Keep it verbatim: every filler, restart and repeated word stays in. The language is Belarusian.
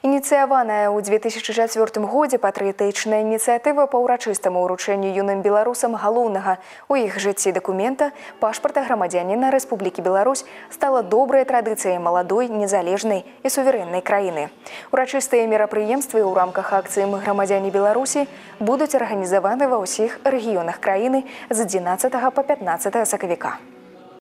Ініцыяваная ў две тысячы чацвёртым годзе патрыятычная ініцыятыва па ўрачыстаму ўручэнню юным беларусам галоўнага у іх жыцці дакумента пашпарта грамадзяніна Рэспублікі Беларусь стала добрай традыцыяй маладой, незалежнай і суверэннай краіны. Урачыстыя мерапрыемствы ў рамках акцыі «Мы грамадзяне Беларусі» будуць арганізаваны ва ўсіх рэгіёнах краіны з адзінаццатага па пятнаццатае сакавіка.